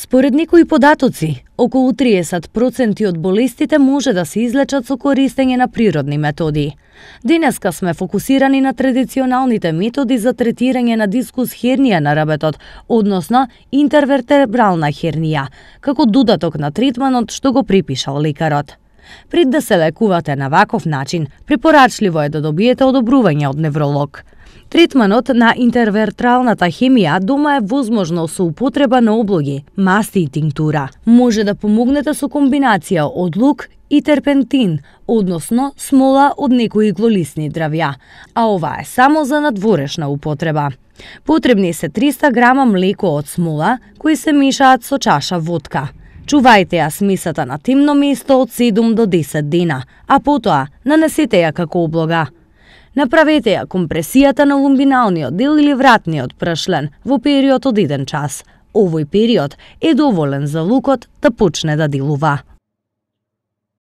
Според некои податоци, околу 30% од болестите може да се излечат со користење на природни методи. Денеска сме фокусирани на традиционалните методи за третирање на дискус хернија на ребетот, односно интервертебрална хернија, како додаток на третманот што го припишал лекарот. Пред да се лекувате на ваков начин, препорачливо е да добиете одобрување од невролог. Третманот на интервертралната хемија дома е возможно со употреба на облоги, масти и тинктура. Може да помогнете со комбинација од лук и терпентин, односно смола од некои иглолисни дрвја, а ова е само за надворешна употреба. Потребни се 300 грама млеко од смола, кои се мешаат со чаша водка. Чувајте ја смесата на темно место од 7 до 10 дена, а потоа нанесете ја како облога. Направете ја компресијата на лумбиналниот дел или вратниот пршлен во период од 1 час. Овој период е доволен за лукот да почне да делува.